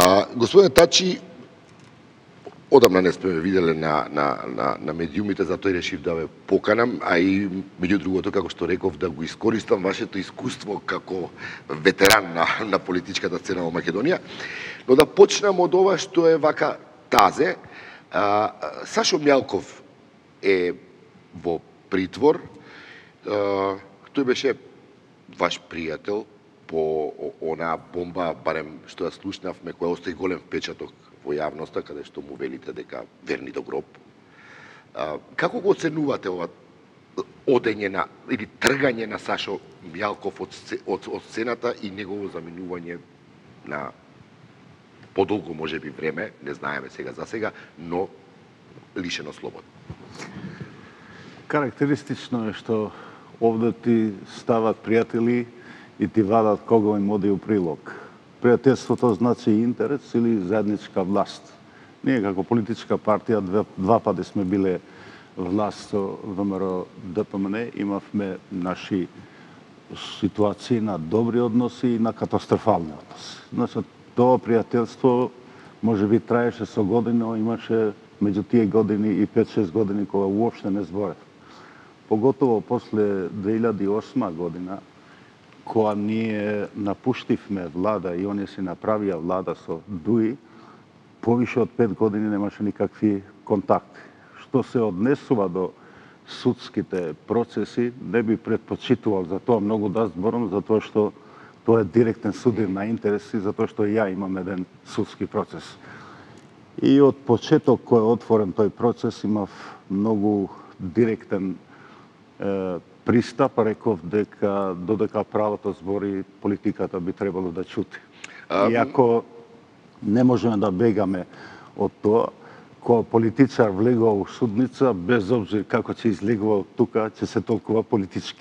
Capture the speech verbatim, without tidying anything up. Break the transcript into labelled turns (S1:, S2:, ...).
S1: А, господине Тачи, одамна не сме виделе на, на, на, на медиумите, затоа и решив да ве поканам, а и меѓу другото, како што реков, да го искористам вашето искуство како ветеран на, на политичката сцена во Македонија. Но да почнам од ова што е вака тазе. А, Сашо Мјалков е во притвор. А, тој беше ваш пријател по онаа бомба, барем што ја слушнавме, која остави голем впечаток во јавноста, каде што му велите дека верни до гроб. А, како го оценувате ова одење на, или тргање на Сашо Мјалков од, од, од сцената и негово заминување на подолго можеби време, не знаеме сега за сега, но лишено слобода?
S2: Карактеристично е што овде ти стават пријатели и ти вадат кого им оди у прилог. Пријателството значи интерес или заедничка власт. Ние како политичка партија два, два пати сме биле власт со ВМРО Д П М Н, имавме наши ситуации на добри односи и на катастрофални односи. Значи, тоа пријателство може би траеше со години, но имаше меѓу тие години и пет-шест години кога уопште не зборев. Поготово после две илјади и осма година, кога ние напуштивме влада и оние си направија влада со ДУИ, повише од пет години немаше никакви контакти. Што се однесува до судските процеси, не би предпочитувал за тоа многу да зборам, затоа што тоа е директен судир на интереси, затоа што и ја имам еден судски процес. И од почеток кој е отворен тој процес, имав многу директен е, пристап, реков дека додека правото збори, политиката би требало да чути. А... Иако не можеме да бегаме од тоа, кога политичар влегува у судница, без обзир како ќе излегува од тука, ќе се толкува политички.